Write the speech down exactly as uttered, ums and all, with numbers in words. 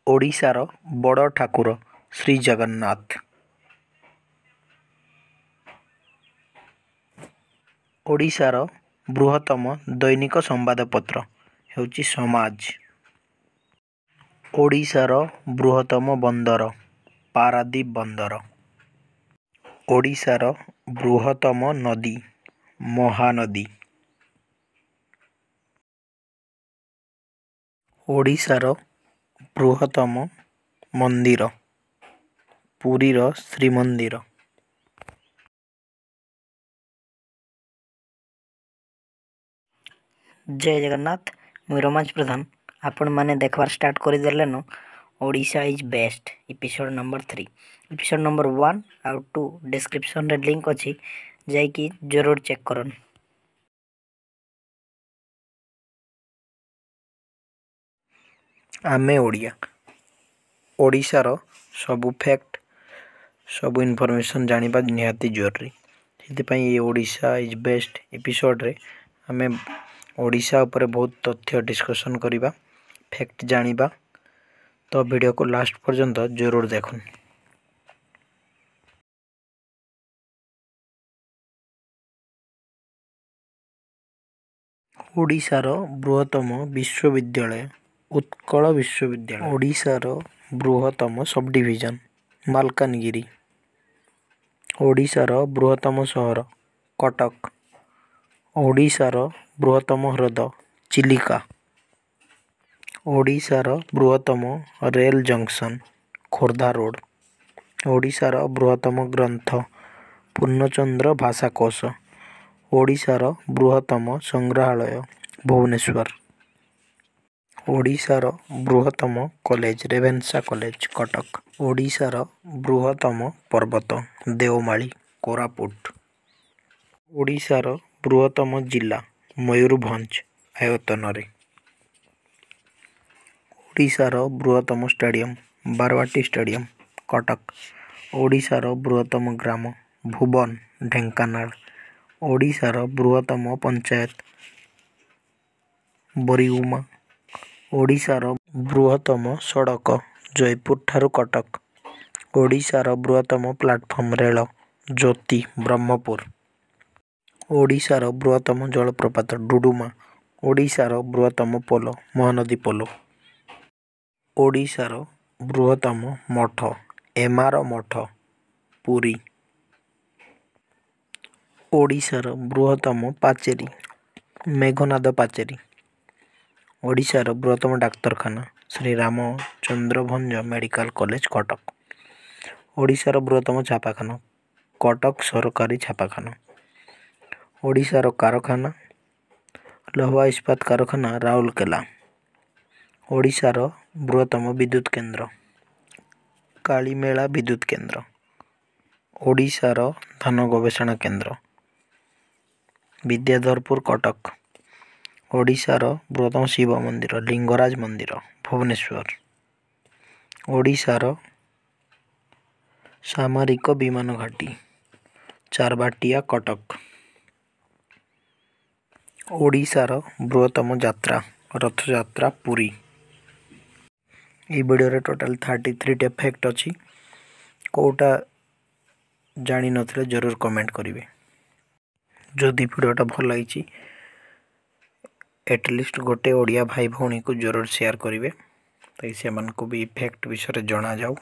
ଓଡ଼ିଶାର ବଡ଼ ଠାକୁର ଶ୍ରୀ ଜଗନ୍ନାଥ। ଓଡ଼ିଶାର ବୃହତ୍ତମ ଦୈନିକ ସମ୍ବାଦପତ୍ର ହେଉଛି ସମାଜ। ଓଡ଼ିଶାର ବୃହତ୍ତମ ବନ୍ଦର ପାରାଦୀପ ବନ୍ଦର। ଓଡ଼ିଶାର ବୃହତ୍ତମ ନଦୀ ମହାନଦୀ। ଓଡ଼ିଶାର ବୃହତ୍ତମ ମନ୍ଦିର ପୁରୀର ଶ୍ରୀମନ୍ଦିର। ଜୟ ଜଗନ୍ନାଥ, ମୁଇଁ ରୋମାଞ୍ଚ ପ୍ରଧାନ। ଆପଣମାନେ ଦେଖବାର start କରିଦେଲେନ Odisha is best episode number three. Episode number one ଆଉ ଟୁ ଡିସ୍କ୍ରିପ୍ସନ୍ରେ ଲିଙ୍କ୍ ଅଛି, ଯାଇକି ଜରୁର ଚେକ୍ କରନ୍। ଆମେ ଓଡ଼ିଆ, ଓଡ଼ିଶାର ସବୁ ଫ୍ୟାକ୍ଟ, ସବୁ ଇନଫର୍ମେସନ୍ ଜାଣିବା ନିହାତି ଜରୁରୀ। ସେଥିପାଇଁ ଏ ଓଡ଼ିଶା is best ଏପିସୋଡ଼ରେ ଆମେ ଓଡ଼ିଶା ଉପରେ ବହୁତ ତଥ୍ୟ ଡିସ୍କସନ୍ କରିବା, ଫ୍ୟାକ୍ଟ ଜାଣିବା। ତ ଭିଡ଼ିଓକୁ ଲାଷ୍ଟ ପର୍ଯ୍ୟନ୍ତ ଜରୁର ଦେଖୁନ୍। ଓଡ଼ିଶାର ବୃହତ୍ତମ ବିଶ୍ୱବିଦ୍ୟାଳୟ ଉତ୍କଳ ବିଶ୍ୱବିଦ୍ୟାଳୟ। ଓଡ଼ିଶାର ବୃହତ୍ତମ ସବ୍ ଡିଭିଜନ୍ ମାଲକାନଗିରି। ଓଡ଼ିଶାର ବୃହତ୍ତମ ସହର କଟକ। ଓଡ଼ିଶାର ବୃହତ୍ତମ ହ୍ରଦ ଚିଲିକା। ଓଡ଼ିଶାର ବୃହତ୍ତମ ରେଲ୍ ଜଙ୍କସନ୍ ଖୋର୍ଦ୍ଧା ରୋଡ଼। ଓଡ଼ିଶାର ବୃହତ୍ତମ ଗ୍ରନ୍ଥ ପୂର୍ଣ୍ଣଚନ୍ଦ୍ର ଭାଷାକୋଷ। ଓଡ଼ିଶାର ବୃହତ୍ତମ ସଂଗ୍ରହାଳୟ ଭୁବନେଶ୍ୱର। ଓଡ଼ିଶାର ବୃହତ୍ତମ କଲେଜ ରେଭେନ୍ସା କଲେଜ କଟକ। ଓଡ଼ିଶାର ବୃହତ୍ତମ ପର୍ବତ ଦେଓମାଳି କୋରାପୁଟ। ଓଡ଼ିଶାର ବୃହତ୍ତମ ଜିଲ୍ଲା ମୟୂରଭଞ୍ଜ ଆୟତନରେ। ଓଡ଼ିଶାର ବୃହତ୍ତମ ଷ୍ଟାଡ଼ିୟମ୍ ବାରବାଟୀ ଷ୍ଟାଡ଼ିୟମ୍ କଟକ। ଓଡ଼ିଶାର ବୃହତ୍ତମ ଗ୍ରାମ ଭୁବନ ଢେଙ୍କାନାଳ। ଓଡ଼ିଶାର ବୃହତ୍ତମ ପଞ୍ଚାୟତ ବରିଗୁମା। ଓଡ଼ିଶାର ବୃହତ୍ତମ ସଡ଼କ ଜୟପୁର ଠାରୁ କଟକ। ଓଡ଼ିଶାର ବୃହତ୍ତମ ପ୍ଲାଟଫର୍ମ ରେଳ ଜ୍ୟୋତି ବ୍ରହ୍ମପୁର। ଓଡ଼ିଶାର ବୃହତ୍ତମ ଜଳପ୍ରପାତ ଡୁଡୁମା। ଓଡ଼ିଶାର ବୃହତ୍ତମ ପୋଲ ମହାନଦୀ ପୋଲ। ଓଡ଼ିଶାର ବୃହତ୍ତମ ମଠ ଏମାର ମଠ ପୁରୀ। ଓଡ଼ିଶାର ବୃହତ୍ତମ ପାଚେରୀ ମେଘନାଦ ପାଚେରୀ। ଓଡ଼ିଶାର ବୃହତ୍ତମ ଡାକ୍ତରଖାନା ଶ୍ରୀ ରାମଚନ୍ଦ୍ର ଭଞ୍ଜ ମେଡ଼ିକାଲ କଲେଜ କଟକ। ଓଡ଼ିଶାର ବୃହତ୍ତମ ଛାପାଖାନା କଟକ ସରକାରୀ ଛାପାଖାନା। ଓଡ଼ିଶାର କାରଖାନା ଲୌହ ଇସ୍ପାତ କାରଖାନା ରାଉରକେଲା। ଓଡ଼ିଶାର ବୃହତ୍ତମ ବିଦ୍ୟୁତ କେନ୍ଦ୍ର କାଳିମେଳା ବିଦ୍ୟୁତ କେନ୍ଦ୍ର। ଓଡ଼ିଶାର ଧାନ ଗବେଷଣା କେନ୍ଦ୍ର ବିଦ୍ୟାଧରପୁର କଟକ। ଓଡ଼ିଶାର ବୃହତ୍ତମ ଶିବ ମନ୍ଦିର ଲିଙ୍ଗରାଜ ମନ୍ଦିର ଭୁବନେଶ୍ୱର। ଓଡ଼ିଶାର ସାମରିକ ବିମାନ ଘାଟି ଚାରବାଟିଆ କଟକ। ଓଡ଼ିଶାର ବୃହତ୍ତମ ଯାତ୍ରା ରଥଯାତ୍ରା ପୁରୀ। ଏଇ ଭିଡ଼ିଓରେ ଟୋଟାଲ୍ ଥାର୍ଟି ଥ୍ରୀଟା ଫ୍ୟାକ୍ଟ ଅଛି। କେଉଁଟା ଜାଣିନଥିଲେ ଜରୁର କମେଣ୍ଟ କରିବେ। ଯଦି ଭିଡ଼ିଓଟା ଭଲ ହେଇଛି, ଆଟଲିଷ୍ଟ ଗୋଟେ ଓଡ଼ିଆ ଭାଇ ଭଉଣୀକୁ ଜରୁର ସେୟାର କରିବେ, ତାକି ସେମାନଙ୍କୁ ବି ଫ୍ୟାକ୍ଟ ବିଷୟରେ ଜଣାଯାଉ।